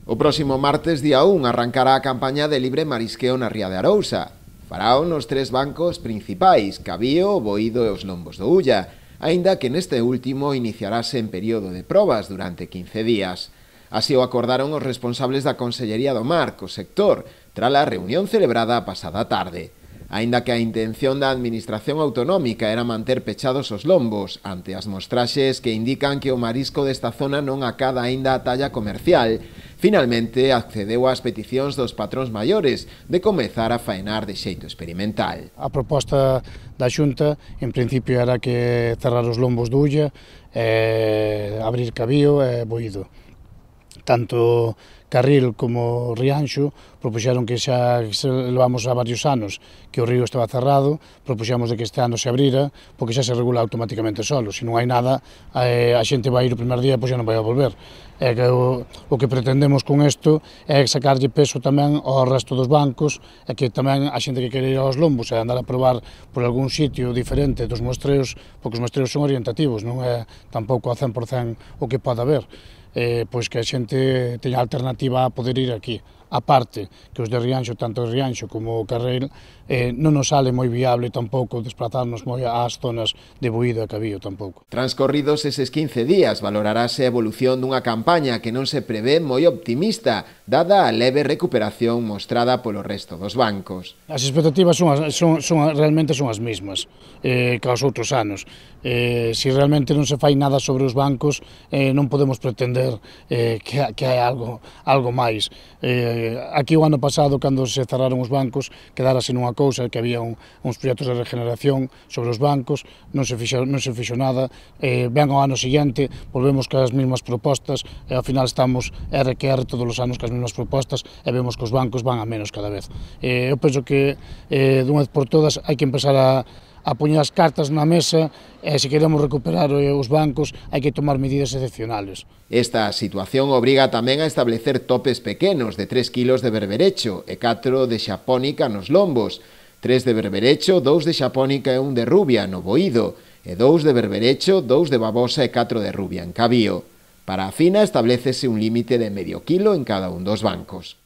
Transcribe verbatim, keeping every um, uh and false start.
O próximo martes día un arrancará a campaña de libre marisqueo na Ría de Arousa. Farao nos tres bancos principais, Cabío, o Boído e os Lombos do Ulla, aínda que neste último iniciarase en período de probas durante quince días. Así o acordaron os responsables da Consellería do Mar co sector, trala reunión celebrada a pasada tarde. Aínda que a intención da Administración Autonómica era manter pechados os lombos ante as mostraxes que indican que o marisco desta zona non acada aínda a talla comercial, finalmente accedeu ás peticións dos patróns maiores de comezar a faenar de xeito experimental. A proposta da Xunta, en principio, era que cerrar os lombos do Ulla, eh, abrir Cabío e Boído. Tanto Carril como Rianxo propuxeron que xa levamos a varios anos que o río estaba cerrado, propuxemos de que este ano se abrira, porque xa se regula automáticamente solo. Se non hai nada, a xente vai ir o primer día e pois xa non vai a volver. E que o, o que pretendemos con isto é sacarlle peso tamén ao resto dos bancos e que tamén a xente que quere ir aos lombos e andar a probar por algún sitio diferente dos mostreos, porque os mostreos son orientativos, non é tampouco a cen por cen o que pode haber. Eh, pois que a xente teña alternativa a poder ir aquí. A parte que os de Rianxo, tanto o Rianxo como o Carril, eh, non nos sale moi viable tampouco desplazarnos moi ás zonas de Boído e Cabío tampouco. Transcorridos eses quince días, valorarase a evolución dunha campaña que non se prevé moi optimista, dada a leve recuperación mostrada polo resto dos bancos. As expectativas son, as, son, son realmente son as mesmas eh, que aos outros anos. Eh, se realmente non se fai nada sobre os bancos, eh, non podemos pretender eh, que, que hai algo, algo máis. Eh, aquí o ano pasado, cando se cerraron os bancos, quedárase nunha cousa que había un, uns proxectos de regeneración sobre os bancos, non se fixo, non se fixo nada, eh, ven ao ano seguinte, volvemos cas mesmas propostas, e ao final estamos R que R todos os anos cas mesmas propostas, e vemos que os bancos van a menos cada vez. Eh, eu penso que eh, dunha vez por todas hai que empezar a a poñer as cartas na mesa e se queremos recuperar os bancos hai que tomar medidas excepcionales. Esta situación obriga tamén a establecer topes pequenos de tres kilos de berberecho e catro de xapónica nos lombos, tres de berberecho, dous de xapónica e un de rubia no Boído, e dous de berberecho, dous de babosa e catro de rubia en Cabío. Para a fina establécese un límite de medio kilo en cada un dos bancos.